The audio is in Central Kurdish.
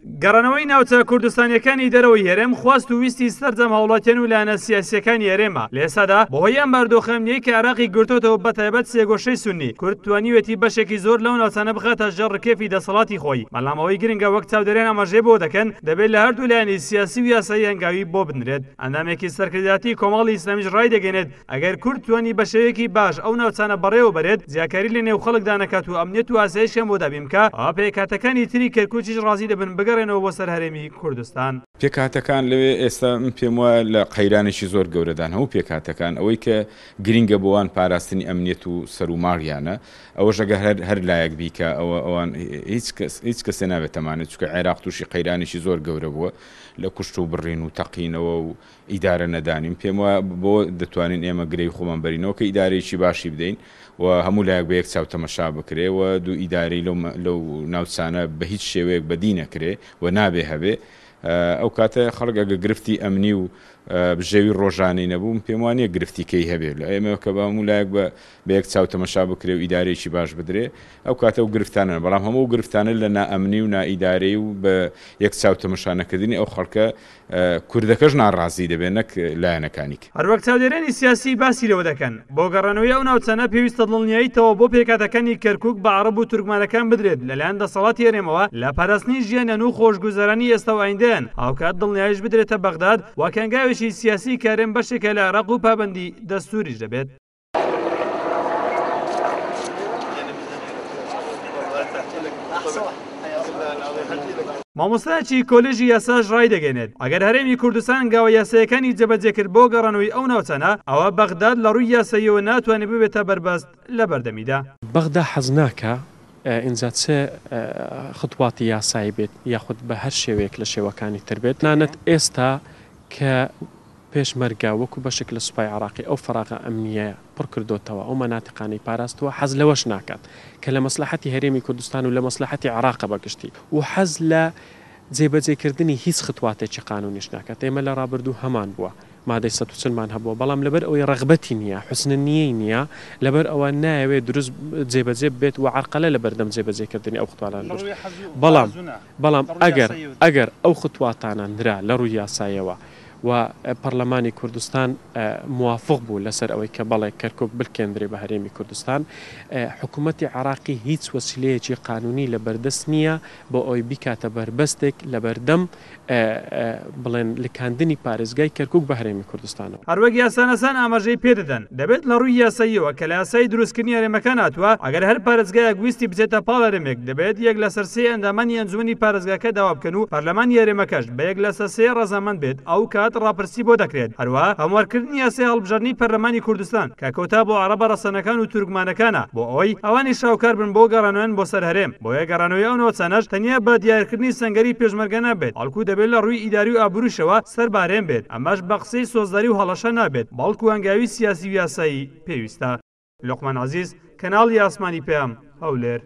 گەڕانەوەی ناوچە کوردستانیەکانی دەرەوەی هەرێم خواست و ویستی سەرجەم هاوڵاتیان و لایەنە سیاسیەکانی هەرێمە. لە ئێستادا بەهۆی ئەم بارودۆخە ئەمنیەی کە عێراقی گرتۆتەوە بەتایبەت سێگۆشەی سوننی، کورد توانیوێتی بەشێکی زۆر لەو ناوچانە بخاتە ژێر ڕکێفی دەسەڵاتی خۆی، بەڵام ئەوەی گرنگە وەک چاودێران ئاماژەی بۆ دەکەن دەبێت لە هەردوو لایەنی سیاسی و یاسایی هەنگاوی بۆ بنرێت. ئەندامێکی سەرکردایەتی کۆمەڵی ئیسلامیش ڕایدەگەیەنێت، ئەگەر کورد توانی بە شێوەیەکی باش ئەو ناوچانە بەڕێوە بەرێت، جیاکاری لە نێو خەڵکدا نەکات و ئەمنیەت و ئاسایشیان بۆ دابین بکا، ئەوا پێکهاتەکانی تری کەرکوکیش ڕازی دەبن بگەڕێنەوە بۆ سەر هەرێمی کوردستان. پێکهاتەکان لەوێ ئێستا من پێم وایە لە قەیرانێکی زۆر گەورەدان، هەموو پێکهاتەکان، ئەوەی کە گرینگە بۆ وان پاراستنی ئەمنیەت و سەر و ماڵیانە، ئەوەش ئەگەر هەر هەر لایەک بیکا ئەوە ئەوان هیچ کەس هیچ کەسێ نابێت تەمانێت، چونکە عێراق تووشی قەیرانێکی زۆر گەورە بووە لە کوشت و بڕین و تەقینەوە و ئیدارە نەدانین پێم وایە بەوە دەتوانین ئێمە گرێی خۆمان بەرینەوە کە ئیدارەیەکی باشی بدەین و هەموو لایەک بە یەک چاو تەمەشا بکرێ و دوو ئیدارەی لەو لەو ناوچانە بە هیچ شێوەیەک بەدی نەکرێ و نابێ هەبێ ئەو کاتە خەڵک ئەگە گرفتی ئەمنی و بژێوی ڕۆژانەی نەبوو من پێم وانییە گرفتی کەی هەبێ لە ئێمە کە بە هەموو لایەک بە بە یەک چاو تەمەشا بکرێ و ئیدارەیەکی باش بدرێ ئەو کاتە ئەو گرفتانە بەڵام هەموو ئەو گرفتانە لە نائەمنی و نائیدارەی و بە یەک چاو تەمەشا نەکردنی ئەو خەڵکە کوردەکەش ناڕازی دەبێت نەک لایەنەکانی کە. هەروەک چاودێرانی سیاسی باسی لەوە دەکەن، بۆ گەڕانەوەی ئەو ناوچانە پێویستە دڵنیایی تەواو بۆ پێکهاتەکانی کەرکوک بە عەڕەب و تورکمانەکان بدرێت لەلایەن دەسەڵاتی هەرێمەوە لە پاراستنی ژیانیان و خۆشگوزەرانی ئێستا و ئایندەیان، هاوکات دڵنیاییش بدرێتە بەغداد وەک هەنگاوێکی سیاسی کە هەرێم بەشێکە لە عێراق و پابەندی دەستوریش دەبێت. مامۆستایەکی کۆلێژی یاساش ڕایدەگەیەنێت، ئەگەر هەرێمی کوردستان هەنگاوە یاساییەکانی جێبەجێکرد بۆ گەڕانەوەی ئەو ناوچانە، ئەوا بەغداد لە ڕووی یاساییەوە ناتوانێت ببێتە بەربەست لە بەردەمیدا. بەغدا حەز ناکا ئینجا چ خطواتی یاسایی بێت یاخود بە هەر شێوەیەک لە شێوەکانی تر بێت، تەنانەت ئێستا کە پێشمەرگە وەکو بەشێک لە سوپای عێراقی ئەو فەراغە ئەمنییە پڕ کردۆتەوە، ئەو مەناتیقانەی پاراستووە، حەز لەوەش ناکات کە لە مەسلەحەتی هەرێمی کوردستان و لە مەسلەحەتی عێراقە بە گشتی و حەز لە جێبەجێکردنی هیچ ختواتێکی قانونیش ناکات. ئێمە لە ڕابردوو هەمان بووە، مادەی 140 مان هەبووە، بەڵام لەبەر ئەوەی ڕەغبەتی نییە، حوسن نییەی نییە، لەبەر ئەوە نایەوێت دروست جێبەجێ ببێت و عەرقەلە لە بەردەم جێبەجێکردنی ئەو ختوانە دروست. بەڵام بەڵام ئەگەر ئەگەر ئەو ختواتانە نرا لە ڕووی یاساییەوە و پەڕلەمانی کوردستان موافق بوو لەسەر ئەوەی کە بەڵێ کەرکوک بلکێندرێ بە هەرێمی کوردستان، حکومەتی عێراقی هیچ وەسیلەیەکی قانونی لەبەردەست نییە بۆ ئەوەی بیکاتە بەربەستێک لەبەردەم بڵێن لکاندنی پارێزگای کەرکوک بە هەرێمی کوردستانەوە. هەروەک یاساناسان ئاماژەی پێدەدەن، دەبێت لە ڕووی یاساییەوە کە لە یاسای دروستکردنی هەرێمەکان هاتووە، ئەگەر هەر پارێزگایەک ویستی بچێتە پاڵ هەرێمێک، دەبێت یەک لەسەر سێی ئەندامانی ئەنجومەنی پارێزگاکە داوا بکەن و پەرلەمانی هەرێمەکەش بە یەک لەسەر سێ ڕەزامەند بێت، ئەو کات ڕاپرسی بۆ دەکرێت. هەروەها هەموارکردنی یاسای هەڵبژاردنی پەرلەمانی کوردستان کە کۆتا بۆ عەڕەبە ڕەسەنەکان و تورکمانەکانە بۆ ئەوەی ئەوانیش هاوکار بن بۆ گەڕانەوەیان بۆ سەر هەرێم، بۆیە گەڕانەوەی ئەو ناوچانەش تەنیا بە دیارکردنی سەنگەری پێشمەرگە نابێت، بەڵکو دەبێت لە ڕووی ئیداری و ئابووریشەوە سەر بە هەرێم بێت، ئەمەش بە قسەی سۆزداری و هەڵەشە نابێت، بەڵکو هەنگاوی سیاسی و یاسایی پێویستە. لوقمان عەزیز، کەناڵی ئاسمانی پەیام، هەولێر.